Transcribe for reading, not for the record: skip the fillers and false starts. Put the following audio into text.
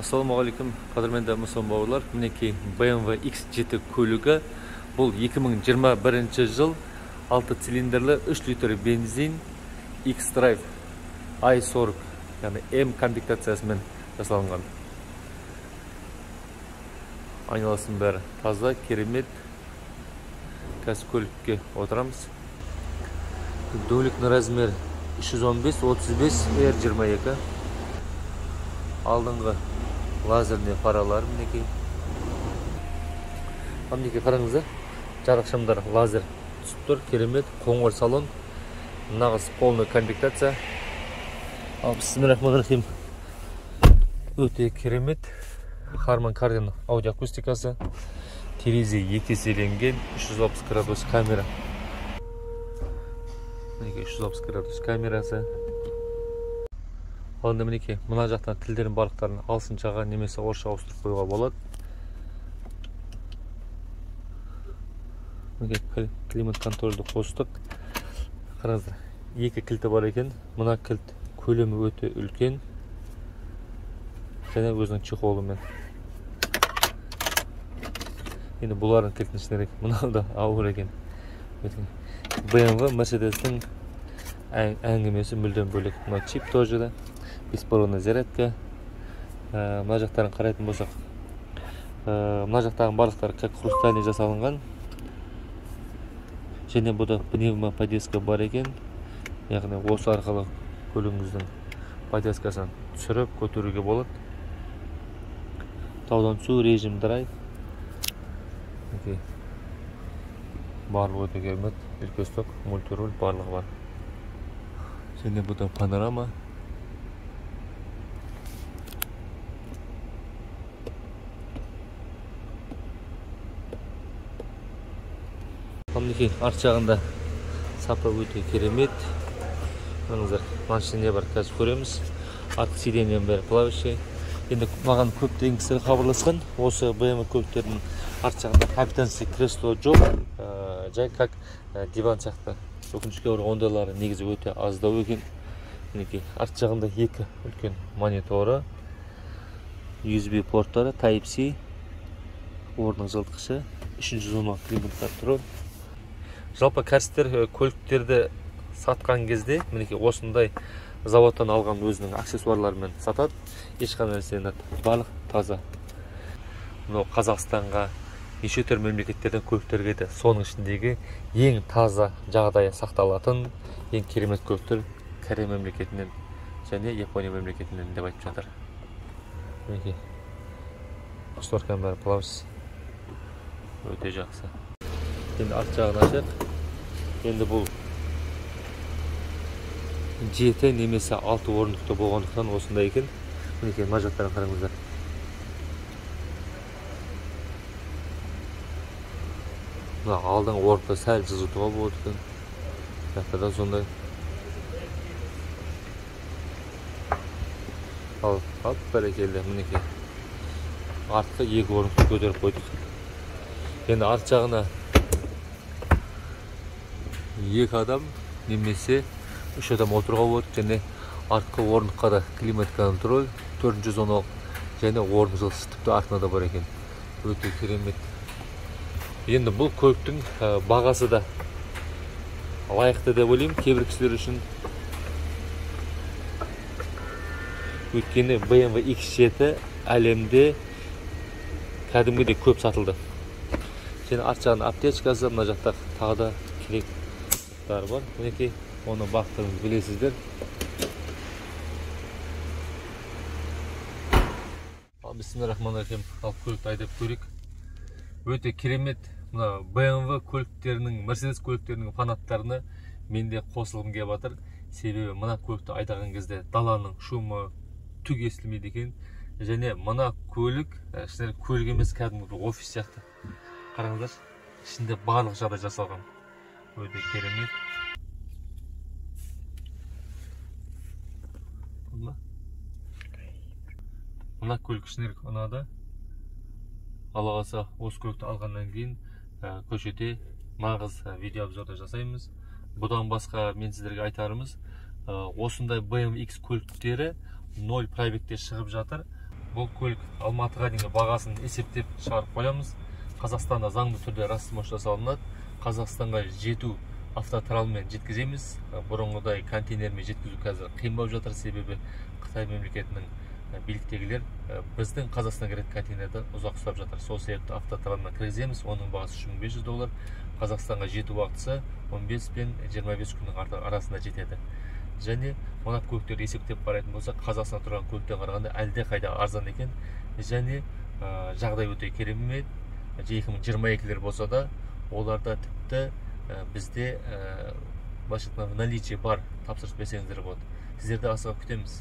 Ассалаумағалейкум, қадірменді мұсылман бауырлар. Мінекей BMW X7 көлігі. Бұл 2021 жыл 6 цилиндрлі 3 литр бензин X-Drive i40, яғни M комплектациясымен жасалынған. Айналасын бәрі таза, керемет. Қазір көлікке отырамыз. Дөңгелектің размері 315-35 R22. Алдыңғы лазерный фаралар мінекей. Мінекей қараңыздар, жарық шамдар лазер түсіп тұр, керемет, қоңыр салон, нағыз полный комплектация. Бисмиллахиррахманиррахим. Өте керемет. Harman Kardon аудиоакустикасы, терезе екеселенген, 360 градус камера. Мінекей 360 градус камерасы. Онда мінекей мына жақтан тілдерін барлықтарын ағылшыншаға немесе орысша ауыстырып қоюға болады. Мінекей климат контрольді қостық. Қараңыздар, екі кілті бар екен. Мына кілт көлемі өте үлкен және өзінің чехолымен. Енді бұлардың кілтін ішінерек, мынау да ауыр екен. BMW Mercedes-тің әңгімесі мүлдем бөлек. Мына чип тоже да. Беспроводная зарядка. Мына жақтарын қарайтын болсақ, мына жақтағы барлықтары как хрустальный жасалынған. Және бұда пневмоподвеска бар екен. Яғни осы арқылы көлігіңіздің подвескасын түсіріп көтеруге болады. Таудан түсу, режим драйв. Барлығы өте керемет, үлкестік, мультируль барлығы бар. Және бұда панорама. Мінекей арт жағында сапа өте керемет. Қараңыздар, машина бар, қазір көреміз. Артқы сиденьен бәрі плавающий. Енді маған көптеген кісілер хабарласқан, осы BMW көліктердің арт жағында капитанский кресло жоқ, жай как диван сияқты. Өкінішке орай ондайлары негізі өте аздау екен. Мінекей арт жағында екі үлкен мониторы, USB порттары, Type-C, орнының жылытқышы, 310 климат контроль. Жалпы кәсіпкер көліктерді сатқан кезде, мінекей осындай заводтан алған өзінің аксессуарларымен сатады. Ешқандай нәрсені барлық таза. Мынау Қазақстанға, неше түрлі мемлекеттерден көліктерге де соның ішіндегі ең таза жағдайы сақталатын ең керемет көліктер Корея мемлекетінен және Япония мемлекетінен деп айтып жатыр. Мінекей шторканың бәрі плавающий. Өте жақсы. Енді арт жағын ашайық. Енді бұл 7 немесе 6 орындықты болғандықтан осындай екен. Мінекей мына жақтарын қараңыздар. Мына алдың орында сәл жылжытуға болады екен. Жақтарда сондай. Ал бәрекелді, мінекей артқы 2 орындықты көтеріп қойдық. Енді арт жағына 2 адам немесе 3 адам отыруға болады, және артқы орындыққа да климат контроль 410 және орын жылытқыш тіпті артында да бар екен. Өте керемет. Енді бұл көліктің бағасы да лайықты деп ойлаймын кейбір кісілер үшін. Өйткені BMW X7 әлемде кәдімгідей көп сатылды. Және арт жағын аптечкасы, мына жақта тағы да керектар бар. Мінекей оны бақтырыңыз білесіздер. Бисмиллахиррахманиррахим. Ал көлікті айдап көрейік. Өте керемет. Мына BMW көліктерінің, Mercedes көліктерінің фанаттарына мен де қосылғым келіп жатыр. Себебі мына көлікті айдаған кезде даланың шумы түк естілмейді екен. Және мына көлік, көлік емес, кәдімгі офис сияқты. Қараңыздар, ішінде барлық жағдай жасалған. Өте керемет. Мына көлік ішінерік ұнады. Алла қаласа осы көлікті алғаннан кейін көшеде нағыз видео обзорды жасаймыз. Бұдан басқа мен сіздерге айтарымыз, осындай BMW X көліктері 0 пробегте шығып жатыр. бұл көлік Алматыға дейінгі бағасын есептеп шығарып қоямыз. Қазақстанда заңды түрде растмош жасалынады. Қазақстанға жету автотралмен жеткіземіз. Бұрынғыдай контейнермен жеткізу қазір қиын болып жатыр, себебі Қытай мемлекетінің биліктегілер біздің Қазақстанға кіретін контейнерді ұзақ ұстап жатыр. Сол себепті автотралмен кіргіземіз. Оның бағасы $3500. Қазақстанға жету уақытысы 15 пен 25 күннің арасында жетеді. Және мына көліктерді есептеп қарайтын болсақ, Қазақстанда тұрған көліктен қарағанда әлде қайда арзан екен. Және жағдай өте керемет. 2022-лер болса да, оларда тіпті бізде наличие бар, тапсырыс берсеңіздер болады. Сіздерді асыға күтеміз.